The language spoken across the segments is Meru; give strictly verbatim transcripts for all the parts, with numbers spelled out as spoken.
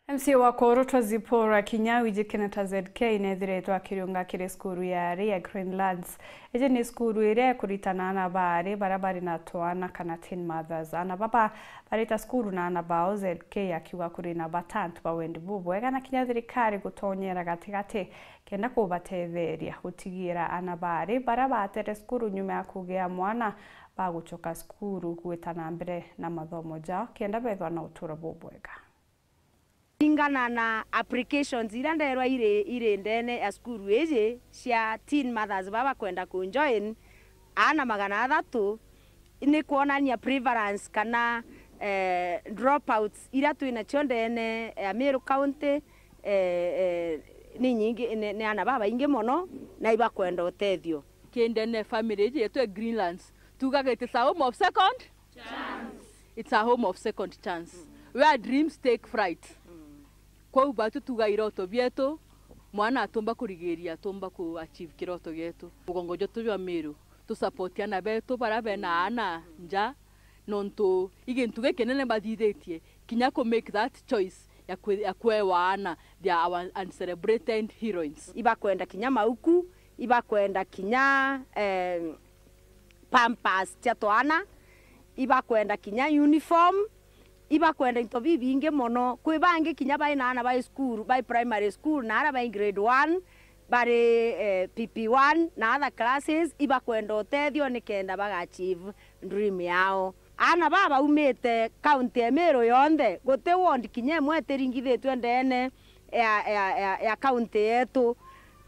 M C A wa Korotwa Zipporah Kinyau iji Kenyatta Z K nethiritwe akiriunga kiri cukuru ya ari ya Greenlands. Iji ni cukuru iria ikuritana aana ba ari baria bari na twana kana teen mothers. Aana baba barita cukuru na aana bao, Z K akiuga kuri na bata antu ba wendi bubwega na kinya thirikari gutonyera gatigati kenda kubatetheria gutigira aana ba ari baria batere cukuru nyuma ya kugia mwana bagucoka cukuru gwita na mbere na mathomo jao kenda bethwa na uturo bubwega. Ringana na applications iria nderwa iri, iri ndene ya cukuru iji cia teen mothers baba bakwenda ku join, aana magana athatu, ni kwonania prevalence kana, eh, dropouts iria twinacio ndene ya Meru County, eh, eh, ni nyingi, ni, ni aana babaingi mono na ibakwenda utethio. Ki ndene family iji yetu ya Greenlands, tugaga it is a home of second chance. It's a home of second chance, where dreams take flight. Kwou batu tuga iroto bietu, mwana atumba kurigiria, atumba ku achieve kiroto gietu. Mugongo jwetu jwa Meru, tu support aana betu baria bena aana nja, nontu i gintu gikinene bathithitie, kinya ku make that choice ya kwe-, ya kwewa aana, they are our uncelebrated heroines. Ibakwenda kinya mauku, ibakwenda kinya, eh, pampers cia twana, ibakwenda kinya uniform, ibakwenda into bibingi mono. Kwi bangi kinya bai na aana bai school, bai primary school, na aria bai grade one, bari, eh, P P one na other classes, ibakwenda utethio nikenda baga achieve dream yao. Aana baba baumite county ya Meru yonthe, guti ward kinya imwe itiringithitwe ndene ya, ya, ya, ya county yetu.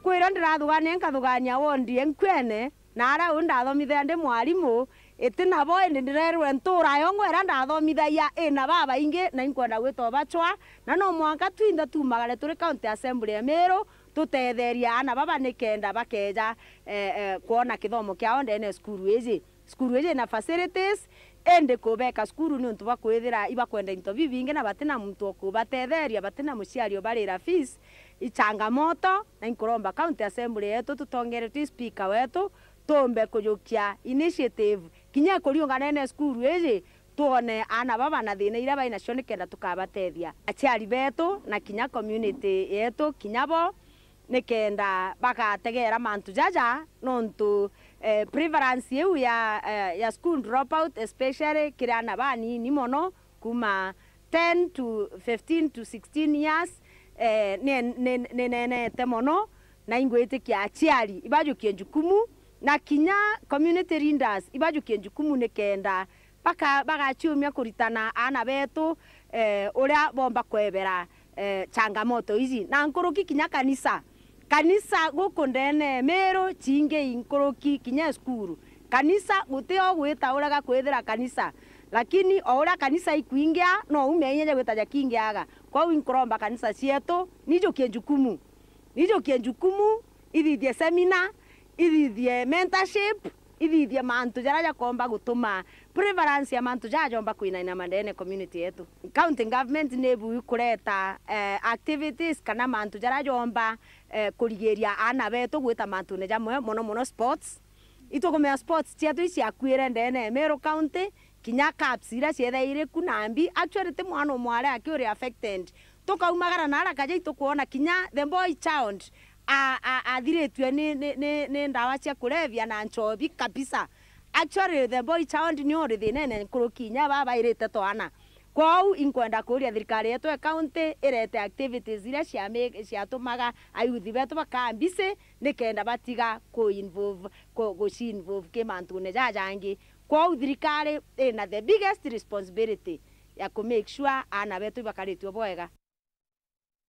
Kwira ndirathugania, nkathugania ward ya Nkwene, na aria u ndathomithia ndi mwarimu, iti nabo, indi ndirerwe ntura yongwa iria ndathomithagia ina babaingi, na inkwenda gwita ubacwa, na no mwanka twinthe tumagare turi County Assembly ya Meru, tutetherie aana baba nikenda bakeja, eh, eh, kwona kithomo kiao ndene ya cukuru iji. Cukuru iji ina facilities, indi kubeka cukuru niuntu bwa kwithira ibakwenda into bibingi na batina muntu o kubatetheria, batina muciari ubarira fees, i changamoto, na inkuromba County Assembly yetu tutongeretwe i speaker wetu, tumbe kujukia initiative kinya ikuriunganene cukuru iji, twone aana baba na thina iria bai nacio nikenda tukabatethia. Aciari betu na kinya community yetu kinya bo nikenda bagategera mantu jaja, nontu, eh, prevalence iu ya, eh, ya school dropout, especially kiri aana banini mono, kuma ten to fifteen to sixteen years, eh, ni, ni, ni nenete mono, na ingwitikia aciari ibajukie njukumu, na kinya community leaders ibajukie njukumu nikenda baka-, bagaciumia kuritana aana betu, eh, uria bomba kwebera, eh, changamoto iji. Na nkuruki kinya kanisa. Kanisa guku ndene Meru ciingi i nkuruki kinya cukuru. Kanisa guti o gwita urega kwithira kanisa. Lakini o uria kanisa ikwingia, no ume inya ja gwita jakingiaga. Kwou inkuromba kanisa cietu, nijukie njukumu. Nijukie njukumu, ithithie seminar, ithithie mentorship, ithithie mantu jaria jakomba gutuma prevalence ya mantu jaja jomba kwinaina mandene community yetu. County government ni bui kureta, eh, activities kana mantu jaria jomba, eh, kurigiria aana betu gwita mantune jamwe, mono mono sports. Itukumenya sports cietu iciakuire ndene ya Meru County, kinya cups iria ciethaire ku nambi, actually ti mwana umwe aria aki uri affected. Tukaumagara na ara kaja itukwona kinya the boy child a, a, athiritue ni, ni, ni, ni ndawa cia kulevya na nchobi kabisa. Actually, the boy child ni uri thinene nkuruki inya baba irite twana. Kwou inkwenda kuria thirikari yetu ya county irete activities iria ciami-, ciatumaga ayuthi betu bakaa busy nikenda batiga ku involve, ku, guci involve ki mantune jajangi. Kwou thirikari ina the biggest responsibility ya ku make sure aana betu ibakaritue bwega.